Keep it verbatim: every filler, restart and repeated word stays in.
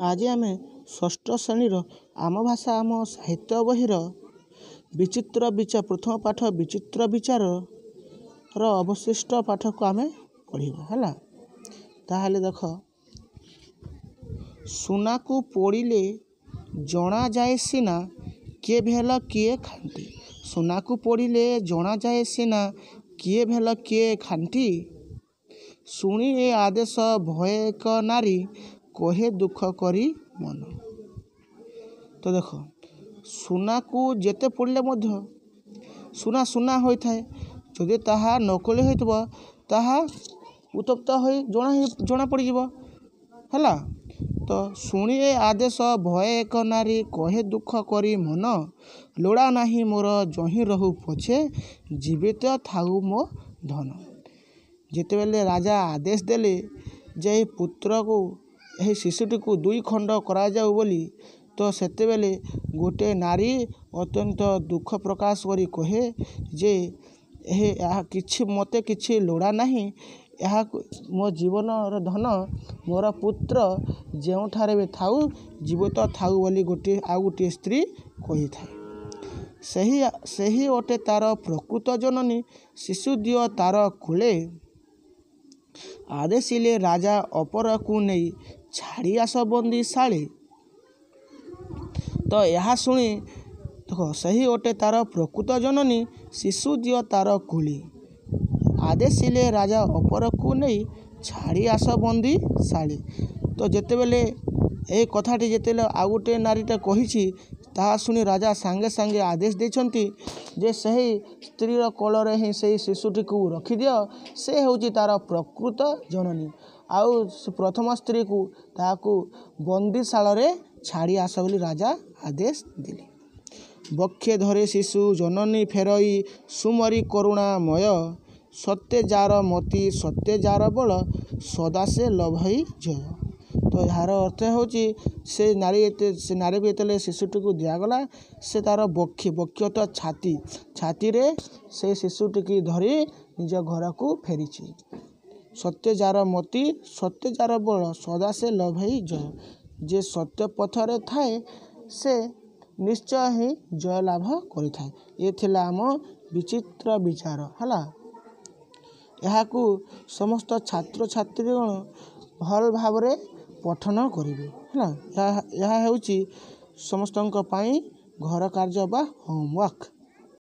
ଆଜି ଆମେ ଷଷ୍ଠ ଶ୍ରେଣୀର ଆମ ଭାଷା ଆମ ସାହିତ୍ୟ ବହିର ବିଚିତ୍ର ବିଚାର ପ୍ରଥମ ପାଠ ବିଚିତ୍ର ବିଚାରର ଅବଶିଷ୍ଟ ପାଠକୁ ଆମେ ପଢ଼ିବା ହେଲା ତାହେଲେ ଦେଖ ସୁନାକୁ ପୋଡ଼ିଲେ ଜଣାଯାଏ ସିନା କିଏ ଭେଲ କିଏ ଖାଣ୍ଟି ସୁନାକୁ ପୋଡ଼ିଲେ ଜଣାଯାଏ ସିନା କିଏ ଭେଲ କିଏ ଖାଣ୍ଟି ଶୁଣି ଏ ଆଦେଶ ଭୟେ ଏକ ନାରୀ କହେ ଦୁଃଖ କରି ମନ ତ ଦେଖ ସୁନାକୁ ଯେତେ ପୋଡ଼ିଲେ ମଧ୍ୟ ସୁନା ସୁନା ହୋଇଥାଏ ଯଦି ତାହା ନକଲି ହୋଇଥିବ ତାହା ଉତ୍ତପ୍ତ ହୋଇ ଜଣା ଜଣା ପଡ଼ିଯିବ ହେଲା ତ ଶୁଣି ଏ ଆଦେଶ ଭୟେ ଏକ ନାରୀ କହେ ଦୁଃଖ କରି ମନ ଲୋଡ଼ା ନାହିଁ ମୋର ଯହିଁ ରହୁ ପଛେ ଜୀବିତ ଥାଉ ମୋ ଧନ ଯେତେବେଳେ ରାଜା ଆଦେଶ ଦେଲେ ଯେ ଏହି ପୁତ୍ରକୁ ଏହି ଶିଶୁଟିକୁ ଦୁଇ ଖଣ୍ଡ କରାଯାଉ ବୋଲି ତ ସେତେବେଳେ ଗୋଟେ ନାରୀ ଅତ୍ୟନ୍ତ ଦୁଃଖ ପ୍ରକାଶ କରି କହେ ଯେ ଏହି ଏହା କିଛି ମୋତେ କିଛି ଲୋଡ଼ା ନାହିଁ ଏହାକୁ ମୋ ଜୀବନର ଧନ ମୋର ପୁତ୍ର ଯେଉଁଠାରେ ବି ଥାଉ ଜୀବିତ ଥାଉ ବୋଲି ଗୋଟିଏ ଆଉ ଗୋଟିଏ ସ୍ତ୍ରୀ କହିଥାଏ ସେହି ସେହି ଅଟେ ତାର ପ୍ରକୃତ ଜନନୀ ଶିଶୁ ଦିଅ ତାର କୋଳେ ଆଦେଶିଲେ ରାଜା ଅପରକୁ ନେଇ ଛାଡ଼ି ଆସ ବନ୍ଦୀଶାଳେ ତ ଏହା ଶୁଣି ଦେଖ ସେହି ଅଟେ ତାର ପ୍ରକୃତ ଜନନୀ ଶିଶୁ ଦିଅ ତାର କୋଳେ ଆଦେଶିଲେ ରାଜା ଅପରକୁ ନେଇ ଛାଡ଼ି ଆସ ବନ୍ଦୀଶାଳେ ତ ଯେତେବେଳେ ଏହି କଥାଟି ଯେତେବେଳେ ଆଉ ଗୋଟିଏ ନାରୀଟା କହିଛି ତାହା ଶୁଣି ରାଜା ସାଙ୍ଗେ ସାଙ୍ଗେ ଆଦେଶ ଦେଇଛନ୍ତି ଯେ ସେହି ସ୍ତ୍ରୀର କୋଳରେ ହିଁ ସେଇ ଶିଶୁଟିକୁ ରଖିଦିଅ ସେ ହେଉଛି ତାର ପ୍ରକୃତ ଜନନୀ ଆଉ ପ୍ରଥମ ସ୍ତ୍ରୀକୁ ତାହାକୁ ବନ୍ଦୀଶାଳରେ ଛାଡ଼ି ଆସ ବୋଲି ରାଜା ଆଦେଶ ଦେଲେ ବକ୍ଷେ ଧରେ ଶିଶୁ ଜନନୀ ଫେରଇ ସୁମରି କରୁଣାମୟ ସତ୍ୟେ ଯାର ମତି ସତ୍ୟେ ଯାର ବଳ ସଦା ସେ ଲଭଇ ଜୟ ତ ଏହାର ଅର୍ଥ ହେଉଛି ସେ ନାରୀ ଏତେ ସେ ନାରୀକୁ ଯେତେବେଳେ ଶିଶୁଟିକୁ ଦିଆଗଲା ସେ ତାର ବକ୍ଷେ ବକ୍ଷ ତ ଛାତି ଛାତିରେ ସେ ଶିଶୁଟିକି ଧରି ନିଜ ଘରକୁ ଫେରିଛି ସତ୍ୟ ଯାର ମତି ସତ୍ୟ ଯାର ବଳ ସଦା ସେ ଲଭଇ ଜୟ ଯେ ସତ୍ୟ ପଥରେ ଥାଏ ସେ ନିଶ୍ଚୟ ହିଁ ଜୟ ଲାଭ କରିଥାଏ ଏ ଥିଲା ଆମ ବିଚିତ୍ର ବିଚାର ହେଲା ଏହାକୁ ସମସ୍ତ ଛାତ୍ରଛାତ୍ରୀଗଣ ଭଲ ଭାବରେ ପଠନ କରିବେ ହେଲା ଏହା ଏହା ହେଉଛି ସମସ୍ତଙ୍କ ପାଇଁ ଘର କାର୍ଯ୍ୟ ବା ହୋମୱାର୍କ